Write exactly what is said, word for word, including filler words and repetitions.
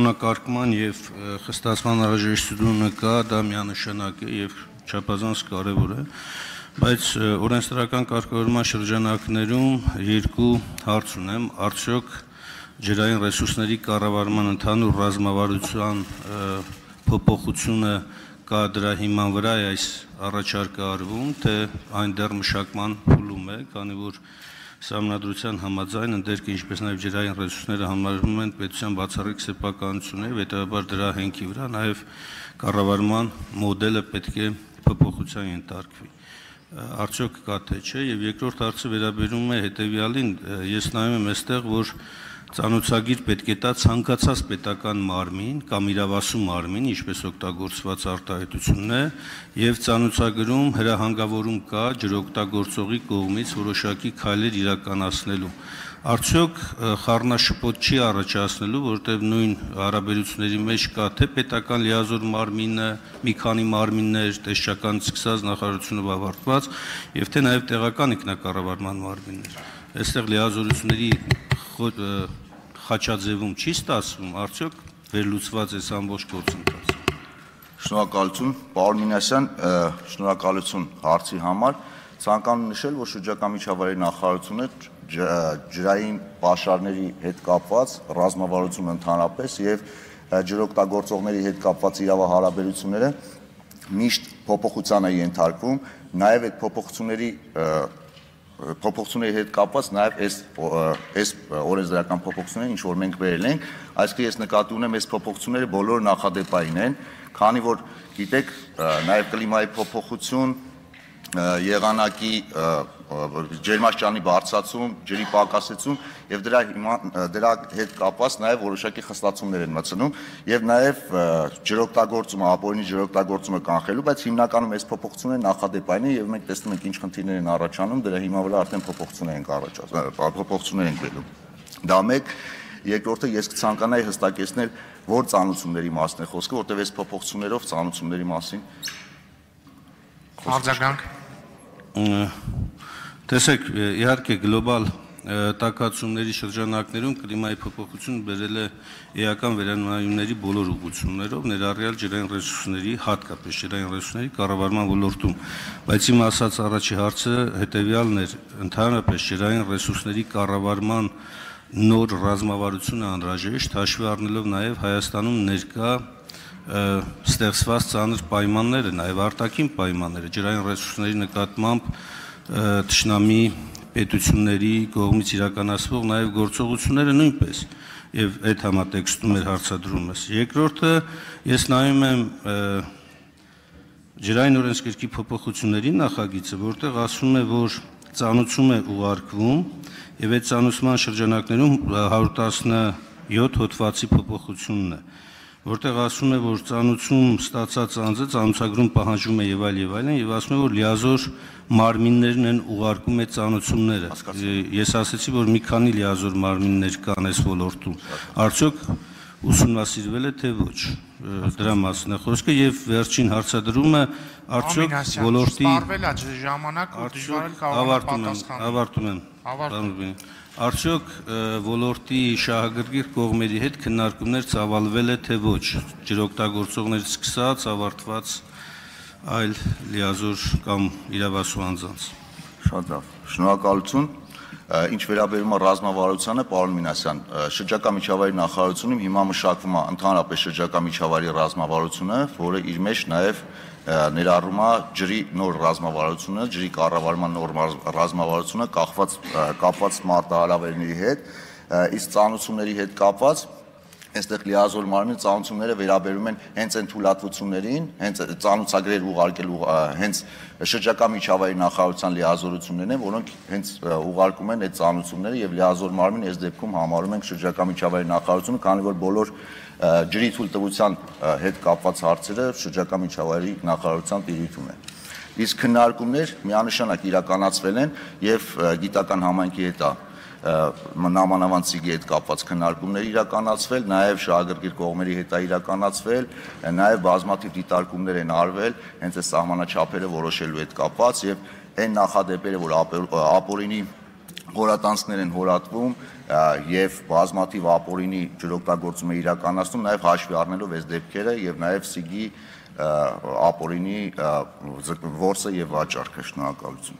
Կանոնակարգման եւ խստացման անհրաժեշտությունը կա, դա միանշանակ է եւ չափազանց կարեւոր է, բայց օրենսդրական կարգավորման շրջանակներում երկու հարց ունեմ, արդյոք ջրային ռեսուրսների կառավարման ընդհանուր ռազմավարության փոփոխությունը կա դրա հիման վրա է այս առաջարկը արվում, թե այն դեռ մշակման փուլում է, քանի որ Սահմանադրության համաձայն ընդերքը ինչպես նաև ջրային ռեսուրսները համարվում են պետության բացառիկ սեփականություններ, հետևաբար դրա հենքի վրա նաև կառավարման մոդելը պետք է փոփոխության ենթարկվի։ Արդյոք կա թե չէ, եւ երկրորդ հարցը վերաբերում է հետեւյալին, ես նայում եմ այստեղ, որ ծանոթագիր պետք է տա ցանկացած պետական մարմին կամ իրավասու մարմին, ինչպես օգտագործված արտահայտությունն է, եւ ծանոթագրում հրահանգավորում կա ջրօգտագործողի կողմից որոշակի քայլեր իրականացնելու։ Արդյոք խառնաշփոթ չի առաջացնելու, որտեղ նույն հարաբերությունների մեջ կա թե պետական լիազոր մարմինը, մի քանի մարմիններ, տեսչականից սկսած նախարարությունով ավարտված, եւ թե նաեւ տեղական ինքնակառավարման մարմիններ։ Այստեղ լիազորությունների խաչաձևում չի ստացվում, արդյոք վերլուծված է ամբողջ գործընթացը։ Շնորհակալություն, պարոն Մինասյան, շնորհակալություն հարցի համար։ Ցանկանում եմ նշել, որ շրջակա միջավայրի նախարարությունը ջրային պաշարների հետ կապված ռազմավարությունը ընդհանրապես եւ ջրօգտագործողների հետ կապված իրավահարաբերությունները միշտ փոփոխության է ենթարկվում, նաեւ այդ փոփոխությունների փոփոխությունների հետ կապված նաև այս այս օրենսդրական փոփոխությունները, ինչ որ մենք վերել ենք, այսինքն ես նկատի ունեմ, այս փոփոխությունները բոլորը նախադեպային են, քանի որ գիտեք, նաև կլիմայի փոփոխություն, եղանակի ջերմաստիճանի բարձրացում, ջրի պակասեցում եւ դրա դրա հետ կապված նաև որոշակի խստացումներ են մտցնում եւ նաև ջրօգտագործումը, ապօրինի ջրօգտագործումը կանխելու, բայց հիմնականում այս փոփոխությունները նախադեպային են եւ մենք տեսնում ենք ինչ խնդիրներ են առաջանում, դրա հիմա վրա արդեն փոփոխություններ են առաջանում, փոփոխություններ են գտնում։ Դա մեկ, երկրորդը ես կցանկանայի հստակեցնել, որ ծանոթությունների մասն է խոսքը, որտեղ այս փոփոխություններով ծանոթությունների մասին արձագանք Տեսեք, իհարկե գլոբալ տաքացումների շրջանակներում կլիմայի փոփոխությունը բերել է էական վերանայումների բոլոր ուղղություններով, ներառյալ ջրային ռեսուրսների, հատկապես ջրային ռեսուրսների կառավարման ոլորտում, բայց իմ ասած առաջի հարցը հետեւյալն էր, ընդհանրապես ջրային ռեսուրսների կառավարման նոր ռազմավարությունը անհրաժեշտ, հաշվի առնելով նաև Հայաստանում ներկա ստեղծված ծանր պայմանները, նաև արտաքին պայմանները, ջրային ռեսուրսների նկատմամբ թշնամի պետությունների կողմից իրականացվող նաև գործողությունները նույնպես, եւ այդ համատեքստում էր հարցադրումս։ Երկրորդը, ես նայում եմ ջրային օրենսգրքի փոփոխությունների նախագիծը, որտեղ ասում է, որ ծանուցում է ուղարկվում եւ այդ ծանուցման շրջանակներում հարյուր տասնյոթ հոդվածի փոփոխությունն է, որտեղ ասում է, որ ծանուցում ստացած անձը ծանուցագրում պահանջում է եւ այլ եւ այլն եւ ասում է, որ լիազոր մարմիններն են ուղարկում այդ ծանուցումները։ Ես ասացի, որ մի քանի լիազոր մարմիններ կան այս ոլորտում։ Արդյոք ուսումնասիրվել է թե ոչ։ Դրա մասն է խոսքը եւ վերջին հարցադրումը արդյոք ոլորտի սպառվել է ժամանակ ու դժվար կարող է պատասխանել։ Ավարտում եմ, ավարտում եմ։ Արդյոք ոլորտի շահագրգիռ կողմերի հետ քննարկումներ ծավալվել է թե ոչ, ջրօգտագործողներից սկսած ավարտված այլ լիազոր կամ իրավասու անձանց։ Շատ լավ, շնորհակալություն։ Ինչ վերաբերում է ռազմավարությանը, պարոն Մինասյան, շրջակա միջավայրի նախարարությունում հիմա մշակվում է ընդհանրապես շրջակա միջավայրի ռազմավարությունը, որը իր մեջ նաև ներառում է ջրի նոր ռազմավարությունը, ջրի կառավարման նոր ռազմավարությունը կախված կապված մարտահրավերների հետ, իսկ ծանուցումների հետ կապված այստեղ լիազոր մարմնի ծանուցումները վերաբերում են հենց այն թույլատվություններին, հենց ծանուցագրեր ուղարկելու հենց շրջակա միջավայրի նախարարության լիազորություններն են, որոնք հենց ուղարկում են այդ ծանուցումները եւ լիազոր մարմին այս դեպքում համարում ենք շրջակա միջավայրի նախարարությունը, քանի որ բոլոր ջրի թույլտվության հետ կապված հարցերը շրջակա միջավայրի նախարարության տիրույթում են։ Իսկ քննարկումներ միանշանակ իրականացվել են եւ գիտական համայնքի հետ նամանավանդ սիգի հետ կապված քննարկումներ իրականացվել, նաև շահագրգիռ կողմերի հետ է իրականացվել, նաև բազմաթիվ դիտարկումներ են արվել հենց այս սահմանաչափերը որոշելու հետ կապված եւ այն նախադեպերը, որ ապօրինի հորատանցքներ են հորատվում եւ բազմաթիվ ապօրինի ջրօգտագործում է իրականացնում, նաեւ հաշվի առնելով այս դեպքերը եւ նաեւ ՍԻԳ-ի ապօրինի որսը եւ վաճառքը։ Շնորհակալություն։